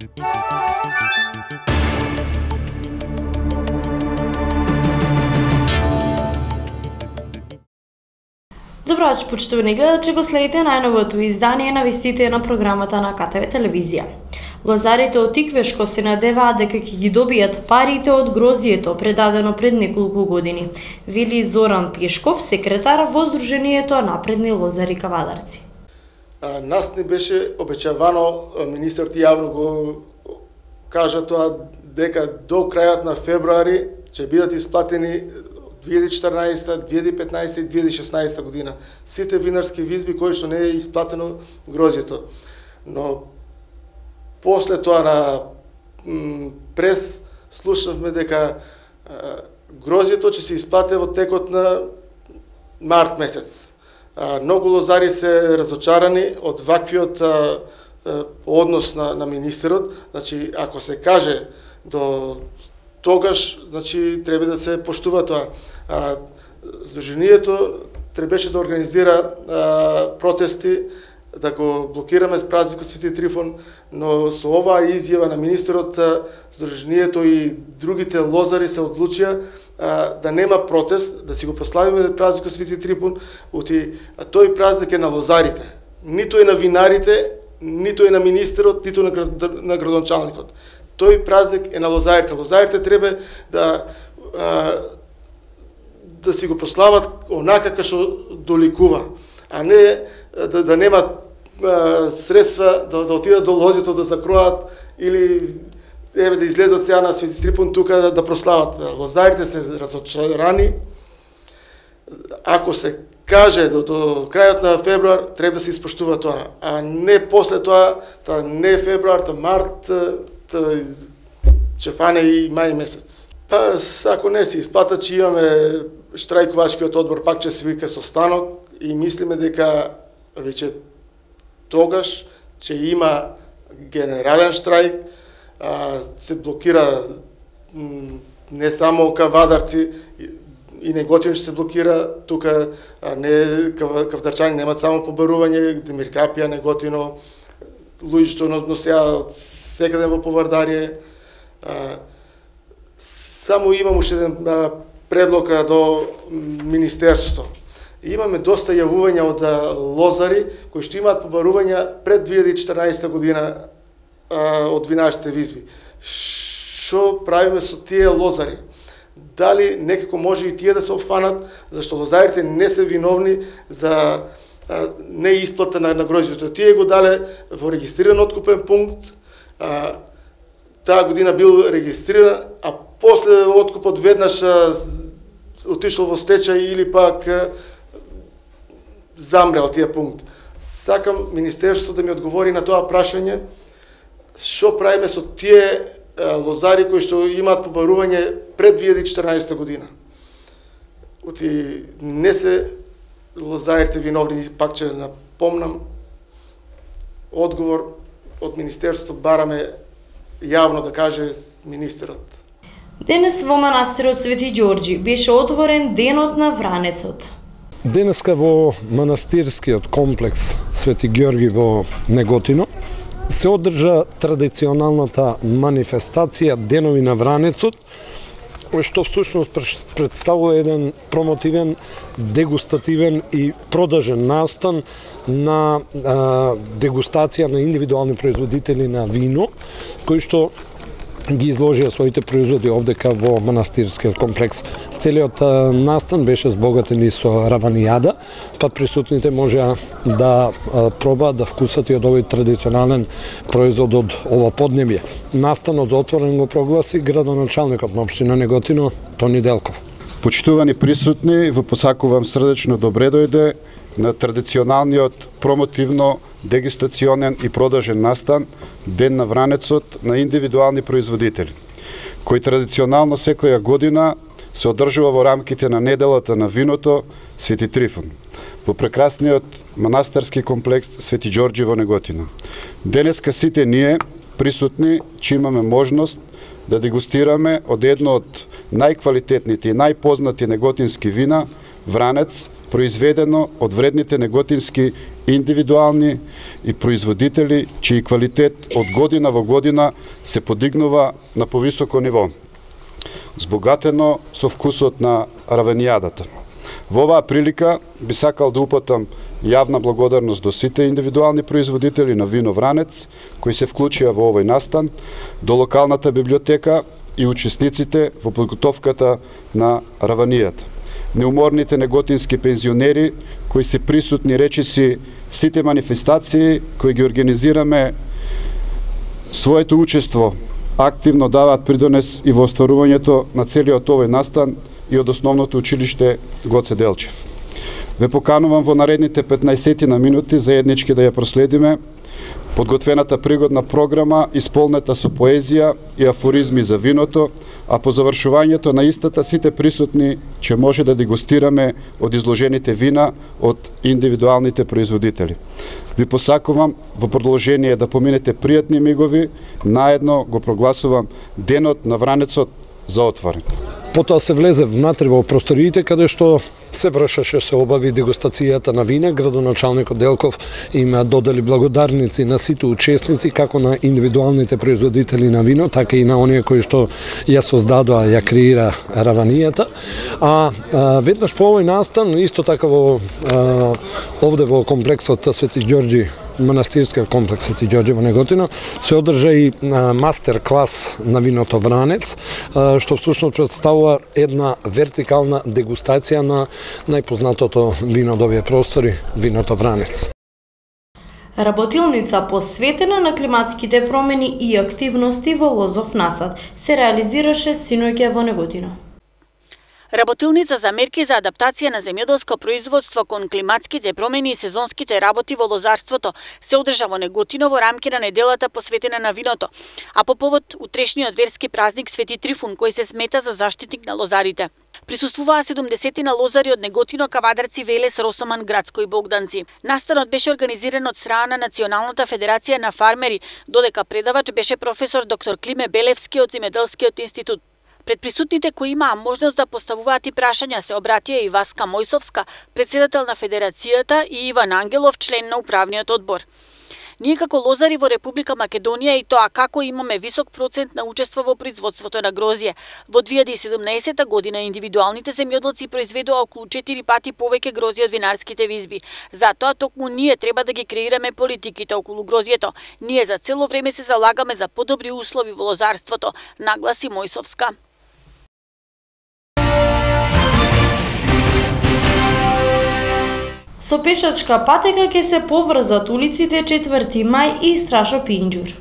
Добро вечер, почитувани гледачи, го следите најновото издание на вестите на програмата на КТВ телевизија. Лозарите од Тиквешко се надеваат дека ќе ги добијат парите од грозието предадено пред неколку години, вели Зоран Пешков, секретар во Сдруженијето Напредни лозари Кавадарци. Нас не беше обечавано, министерот јавно го кажа тоа, дека до крајот на февруари ќе бидат исплатени 2014, 2015 и 2016 година сите винарски визби кои што не е исплатено грозието. Но после тоа на прес слушнавме дека грозието ќе се исплате во текот на март месец. Многу лозари се разочарани од ваквиот однос на министерот. Значи, ако се каже до тогаш, значи, треба да се поштува тоа. Сдруженијето требаше да организира протести, да го блокираме с празникот Свети Трифон, но со оваа изјава на министерот, Сдруженијето и другите лозари се одлучија да нема протест, да си го прославиме празникот Свети Трифон, тој празник е на лозарите. Ниту е на винарите, ниту е на министерот, ниту на градоначалникот. Тој празник е на лозарите. Лозарите треба да си го прослават онака како што доликува, а не да нема средства да отидат до лозито да закроат или да излезат сега на Свети Трифон тука да прослават. Лозарите се разочарани. Ако се каже до крајот на февруар, треба да се испоштува тоа, а не после тоа, не февруар, март, ќе фане и мај месец. Ако не се исплата, че имаме штрајкувачкиот одбор, пак ќе се вика состанок и мислиме дека веќе тогаш ќе има генерален штрајк, се блокира не само Кавадарци, и Неготино ќе се блокира, тука кавдарчани немат само побарување, Демиркапија, Неготино, луѓето носеа секаде во Повардарие. Само имам уште еден предлог до Министерството. Имаме доста јавувања од лозари кои што имаат побарувања пред 2014 година од винарските визби. Што правиме со тие лозари? Дали некако може и тие да се опфанат, зашто лозарите не се виновни за неисплата на грозието. Тие го дале во регистриран откупен пункт, таа година бил регистриран, а после откупот веднаш отишол во стечај или пак замрел тие пункт. Сакам Министерството да ми одговори на тоа прашање, што правиме со тие лозари кои што имаат побарување пред 2014 година. Не се лозарите виновни, пак ќе напомнам, одговор од Министерството бараме јавно да каже министерот. Денес во манастирот Свети Ѓорѓи беше отворен денот на Вранецот. Денеска во манастирскиот комплекс Свети Ѓорѓи во Неготино се одржа традиционалната манифестација Денови на Вранецот, што всушност представува еден промотивен, дегустативен и продажен настан на дегустација на индивидуални производители на вино, кои што ги изложија своите производи овдека во манастирскиот комплекс. Целиот настан беше збогатен и со раванијада, па присутните можеа да пробаат, да вкусат и од овој традиционален производ од ова поднебје. Настанот отворен го прогласи градоначалникот на општина Неготино Тони Делков. Почитувани присутни, ве посакувам срдечно добре дојде на традиционалниот промотивно дегустационен и продажен настан Ден на Вранецот на индивидуални производители, кој традиционално секоја година се одржува во рамките на неделата на виното Свети Трифон во прекрасниот манастирски комплекс Свети Ѓорѓи во Неготино. Денеска сите ние присутни че имаме можност да дегустираме од едно од најквалитетните и најпознати неготински вина Вранец, произведено од вредните неготински индивидуални и производители, чиј квалитет од година во година се подигнува на повисоко ниво, збогатено со вкусот на равенијадата. Во оваа прилика би сакал да упатам јавна благодарност до сите индивидуални производители на вино Вранец, кои се вклучија во овој настан, до локалната библиотека и учесниците во подготовката на раванијата. Неуморните неготински пензионери, кои се присутни речиси сите манифестации кои ги организираме, своето учество активно даваат придонес и во остварувањето на целиот овој настан и од основното училиште Гоце Делчев. Ве поканувам во наредните 15 на минути заеднички да ја проследиме подготвената пригодна програма исполнета со поезија и афоризми за виното, а по завршувањето на истата сите присутни ќе може да дегустираме од изложените вина од индивидуалните производители. Ви посакувам во продолжение да поминете пријатни мигови, наедно го прогласувам Денот на Вранецот за отворен. Потоа се влезе внатре во просториите каде што се вршеше, се обави дегустацијата на вина. Градоначалникот Делков им додели благодарници на сите учесници, како на индивидуалните производители на вино, така и на оние кои што ја создадоа, ја креира раванијата. А веднаш по овој настан, исто така овде во комплексот Свети Ѓорѓи, манастирскиот комплекс Свети Ѓорѓи во Неготино, се одржа и мастер клас на виното Вранец, што всушност представува една вертикална дегустација на најпознатото вино од овие простори, виното Вранец. Работилница посветена на климатските промени и активности во лозов насад се реализираше синоќа во Неготино. Работилница за мерки за адаптација на земјоделско производство кон климатските промени и сезонските работи во лозарството се одржа во Неготино во рамки на неделата посветена на виното, а по повод утрешниот верски празник Свети Трифун, кој се смета за заштитник на лозарите. Присуствуваа 70 на лозари од Неготино, Кавадарци, Велес, Росоман, Градско и Богданци. Настанот беше организиран од страна на Националната федерација на фармери, додека предавач беше професор доктор Климе Белевски од Земјоделскиот институт. Пред присутните кои имаа можност да поставуваат и прашања се обратија и Васка Мојсовска, председател на Федерацијата, и Иван Ангелов, член на управниот одбор. Ние како лозари во Република Македонија и тоа како имаме висок процент на учество во производството на грозје. Во 2017 година индивидуалните земјоделци произведоа околу 4 пати повеќе грозје од винарските визби. Затоа токму ние треба да ги креираме политиките околу грозјето. Ние за цело време се залагаме за подобри услови во лозарството, нагласи Мојсовска. Со пешачка патека ќе се поврзат улиците 4 мај и Страшо Пинџур.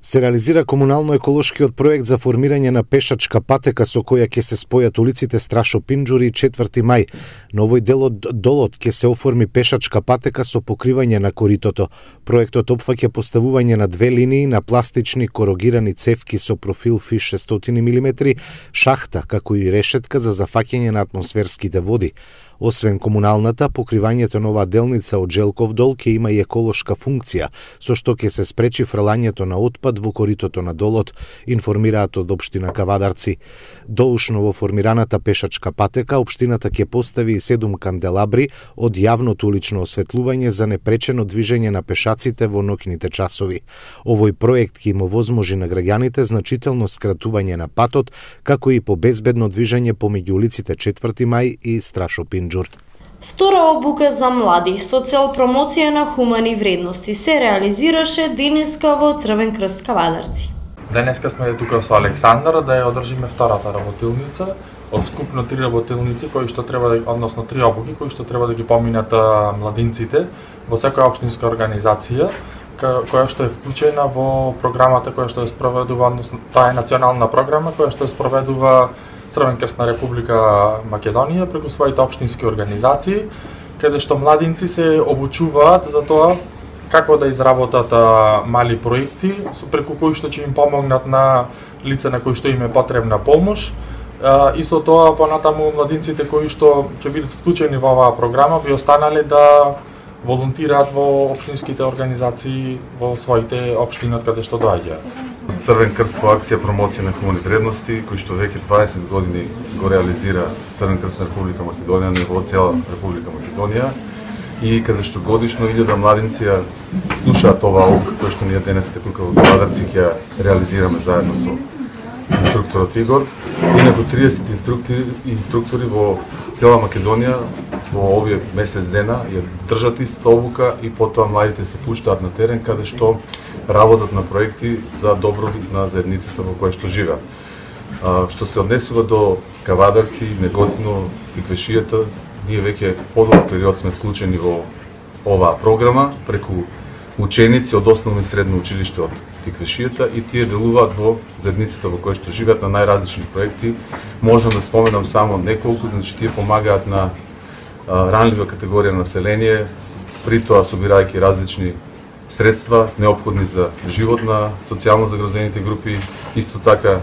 Се реализира комунално-еколошкиот проект за формирање на пешачка патека со која ќе се спојат улиците Страшо Пинџур и 4 мај. На овој дел од долот ќе се оформи пешачка патека со покривање на коритото. Проектот опфаќа поставување на 2 линии на пластични корогирани цевки со профил фиш 600 мм, шахта, како и решетка за зафаќање на атмосферските води. Освен комуналната, покривањето на оваа делница од Желков дол ќе има и еколошка функција, со што ќе се спречи фрлањето на отпад во коритото на долот, информираат од општина Кавадарци. Доушно во формираната пешачка патека, општината ќе постави и 7 канделабри од јавното улично осветлување за непречено движење на пешаците во ноќните часови. Овој проект ќе им овозможи на граѓаните значително скратување на патот, како и побезбедно движење помеѓу улиците 4 мај и Страшо Пинџур. Втора обука за млади со цел промоција на хумани вредности се реализираше денеска во Црвен крст Кавадарци. Денеска сме тука со Александар да ја одржиме втората работилница од скупно 3 работилници кои што треба да, односно 3 обуки кои што треба да ги поминат младинците во секоја општинска организација која што е вклучена во програмата која што ја спроведува, односно таа е национална програма која што ја спроведува Црвен крст на Република Македонија преку своите општински организации, каде што младинци се обучуваат за тоа како да изработат мали проекти, преку кои што ќе им помогнат на лица на кои што им е потребна помош, и со тоа понатаму младинците кои што ќе бидат вклучени во оваа програма би останале да волонтираат во општинските организации во своите општини од каде што доаѓаат. Црвен крст во акција промоција на хумани вредности, кој што веќе 20 години го реализира Црвен крст на Република Македонија, на ниво цела Република Македонија, и каде што годишно 1000 младинци ја слушаат оваа оука кој што ние денеска тука во Кавадарци ќе реализираме заедно со инструкторот Игор, и некои 30 инструктори во цела Македонија во овие месец дена ја држат истата обука и потоа младите се пуштаат на терен каде што работат на проекти за добробит на заедницата во која што живеат. Што се однесува до Кавадарци, Неготино и Квешијата, ние веќе подолг период сме вклучени во оваа програма преку ученици од основно и средно училиште од Тиквешијата, и тие делуваат во заедницата во која што живеат на најразлични проекти. Можам да споменам само неколку, значи тие помагаат на ранлива категорија население, при тоа собирајќи различни средства неопходни за живот на социјално загрозените групи. Исто така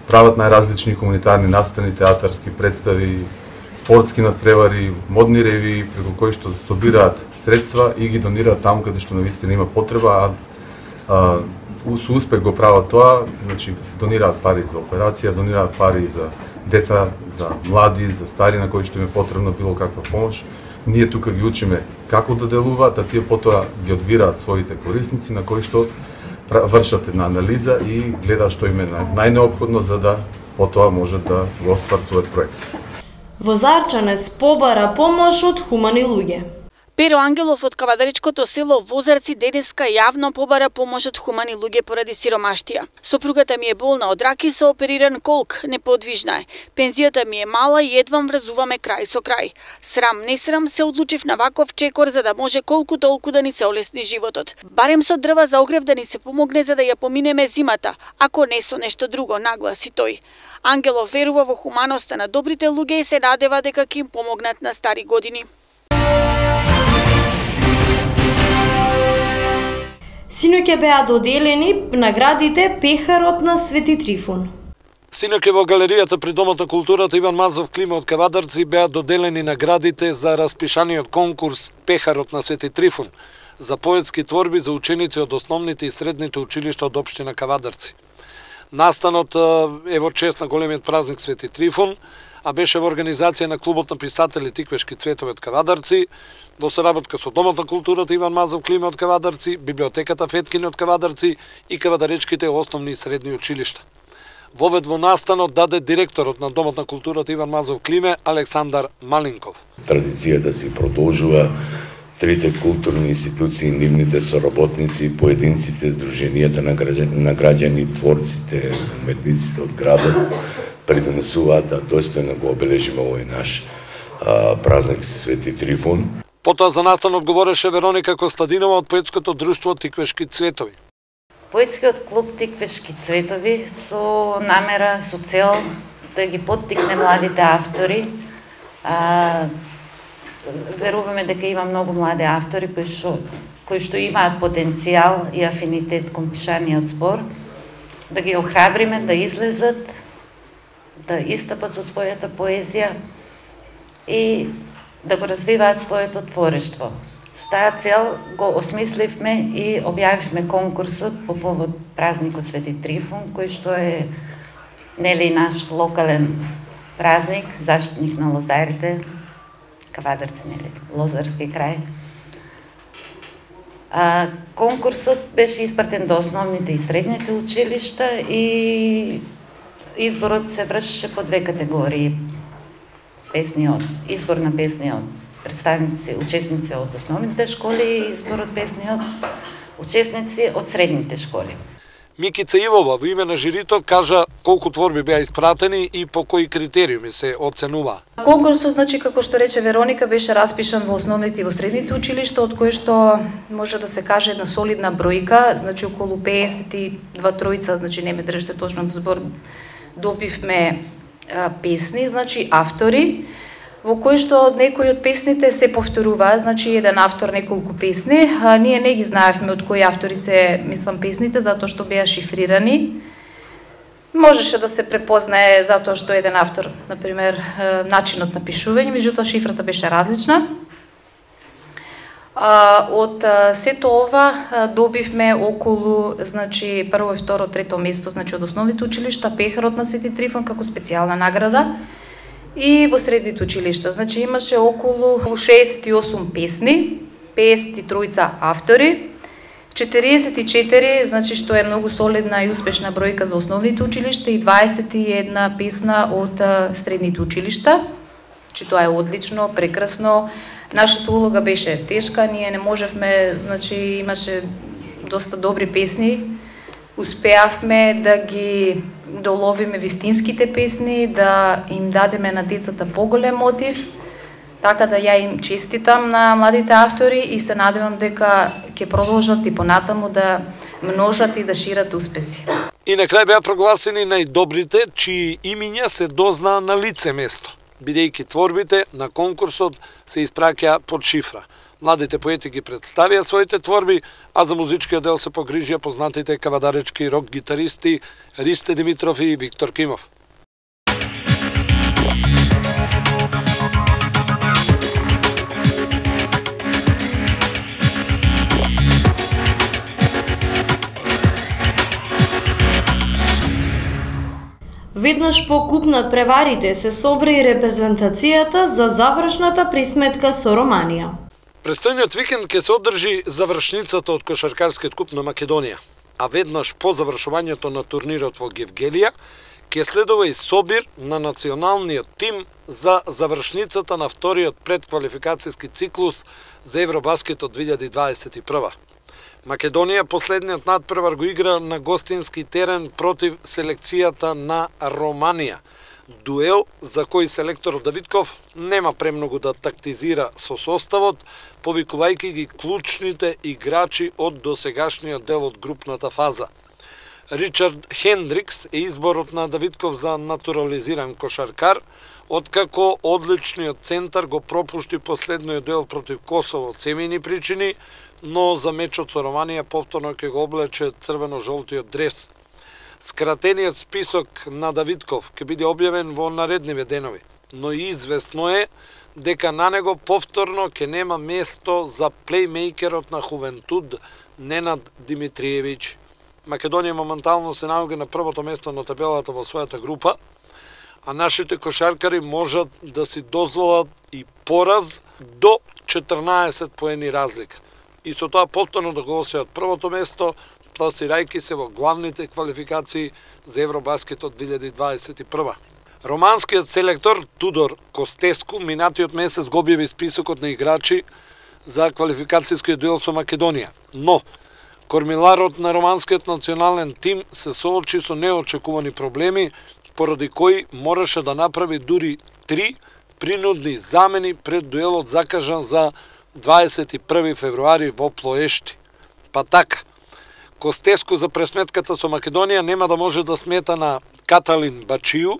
прават најразлични хуманитарни настани, театарски представи, спортски надпревари, модни ревии, преку кои што собираат средства и ги донираат таму каде што навистина има потреба, со успех го прават тоа, значи донираат пари за операција, донираат пари за деца, за млади, за стари на кои што им е потребна било каква помош. Ние тука ги учиме како да делуваат, а тие потоа ги одбираат своите корисници на кои што вршат една анализа и гледаат што им е најнеопходно за да потоа можат да го остварат својот проект. Возарчанец побара помош од хумани луѓе. Перо Ангелов од кавадаричкото село Возарци денеска јавно побара помош од хумани луѓе поради сиромаштија. Сопругата ми е болна од рак и се опериран колк, неподвижна е. Пензијата ми е мала и едвам врзуваме крај со крај. Срам, не срам, се одлучив на ваков чекор за да може колку толку да ни се олесни животот. Барем со дрва за огрев да ни се помогне за да ја поминеме зимата, ако не со нешто друго, нагласи тој. Ангелов верува во хуманоста на добрите луѓе и се надева дека ќе им помогнат на стари години. Синоќа беа доделени наградите Пехарот на Свети Трифун. Синоќа во галеријата при Домот на културата Иван Мазов Клима од Кавадарци беа доделени наградите за распишаниот конкурс Пехарот на Свети Трифун за поетски творби за ученици од основните и средните училишта од општина Кавадарци. Настанот е во чест на големиот празник Свети Трифун, а беше во организација на Клубот на писатели Тиквешки цветови од Кавадарци, во соработка со Домот на културата Иван Мазов Клима од Кавадарци, Библиотеката Феткини од Кавадарци и Кавадаречките основни и средни училишта. Вовед во настанот даде директорот на Домот на културата Иван Мазов Климе Александар Малинков. Традицијата си продолжува. Трите културни институции, нивните соработници, поединците, здруженијата на граѓани, творците, уметниците од градот придонесуваат да достојно го обележиме овој наш празник Свети Трифун. Потоа за настанот говореше Вероника Костадинова од поетското друштво Тиквешки цветови. Поетскиот клуб Тиквешки цветови со намера, со цел да ги поттикне младите автори. Веруваме дека има многу млади автори кои што имаат потенцијал и афинитет кон пишаниот збор, да ги охрабриме да излезат, да истапат со својата поезија и да го развиваат своето творештво. Со таа цел го осмисливме и објавивме конкурсот по повод празникот Свети Трифун, кој што е нели наш локален празник, заштитник на лозарите, Кавадарци, нели, Лозарски крај. Конкурсот беше испратен до основните и средните училишта и изборот се вршеше по две категории. Избор на песни од представници, учесници од основните школи и избор од песни од учесници од средните школи. Микица Ивова во име на жирито кажа колку творби беа испратени и по кои критериуми се оценува. Конкурсот, значи, како што рече Вероника, беше распишан во основните и во средните училишта, од кои што може да се каже една солидна бројка, значи околу 52 тројца, значи не ме држите точно во збор, добивме песни, значи автори, во кои што некои од песните се повторуваат, значи еден автор неколку песни, ние не ги знаевме од кои автори се, мислам, песните, затоа што беа шифрирани. Можеше да се препознае затоа што еден автор, например, начинот на пишување, меѓутоа шифрата беше различна. Од сето ова добивме околу, значи, прво, второ, трето место, значи, од основните училишта, пехарот на Свети Трифон како специјална награда и во средните училишта. Значи, имаше околу 68 песни, 53 автори, 44, значи, што е многу солидна и успешна бројка за основните училишта и 21 песна од средните училишта. Значи, тоа е одлично, прекрасно. Нашата улога беше тешка, ние не можевме, значи, имаше доста добри песни. Успеавме да ги доловиме вистинските песни, да им дадеме на децата поголем мотив. Така да ја им честитам на младите автори и се надевам дека ќе продолжат и понатаму да множат и да шират успеси. И на крај беа прогласени најдобрите чии имиња се дознаа на лице место, бидејќи творбите на конкурсот се испраќаа под шифра. Младите поети ги представија своите творби, а за музичкиот дел се погрижија познатите кавадаречки рок гитаристи Ристе Димитров и Виктор Кимов. Веднаш по куп над преварите се собра и репрезентацијата за завршната присметка со Романија. Престојниот викенд ќе се одржи завршницата од кошаркарскиот куп на Македонија, а веднаш по завршувањето на турнирот во Гевгелија ќе следува и собир на националниот тим за завршницата на вториот предквалификацијски циклус за Евробаскетот 2021. Македонија последниот надпревар го игра на гостински терен против селекцијата на Романија. Дуел за кој селекторот Давидков нема премногу да тактизира со составот, повикувајќи ги клучните играчи од досегашниот дел од групната фаза. Ричард Хендрикс е изборот на Давидков за натурализиран кошаркар, откако одличниот центар го пропушти последниот дел против Косово од семејни причини, но за мечот со Романија повторно ќе го облече црвено-жолтиот дрес. Скратениот список на Давидков ќе биде објавен во наредниве денови, но известно е дека на него повторно ќе нема место за плеймейкерот на Хувентуд Ненад Димитриевиќ. Македонија моментално се наоѓа на првото место на табелата во својата група, а нашите кошаркари можат да си дозволат и пораз до 14 поени разлика. И со тоа повторно да го освојат првото место, пласирајќи се во главните квалификации за Евробаскетот 2021. Романскиот селектор Тудор Костеску минатиот месец го објави списокот на играчи за квалификацијскиот дуел со Македонија, но кормиларот на романскиот национален тим се соочи со неочекувани проблеми, поради кои мораше да направи дури 3 принудни замени пред дуелот закажан за 21 февруари во Плоешти. Па така, Костеску за пресметката со Македонија нема да може да смета на Каталин Бачију,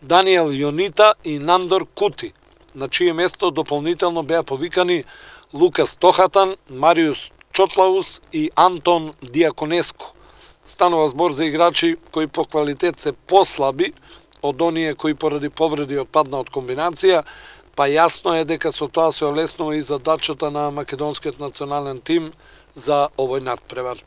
Даниел Јонита и Нандор Кути, на чие место дополнително беа повикани Лукас Тохатан, Мариус Чотлаус и Антон Диаконеску. Станува збор за играчи кои по квалитет се послаби од оние кои поради повреди отпадна од комбинација, па јасно е дека со тоа се олеснува и задачата на македонскиот национален тим за овој надпревар.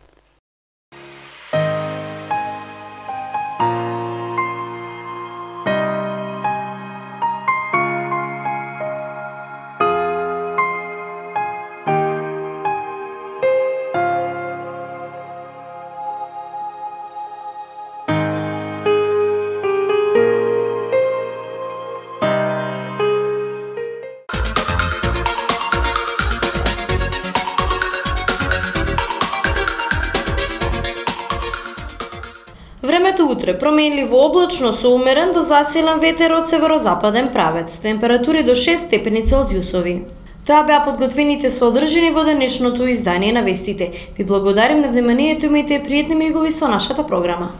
Времето утре променливо облачно со умерен до засилен ветер од северозападен правец, температури до 6 степени Целзиусови. Тоа беа подготвените содржини во денешното издание на вестите. Ви благодарим на вниманието, имајте пријатни мигови со нашата програма.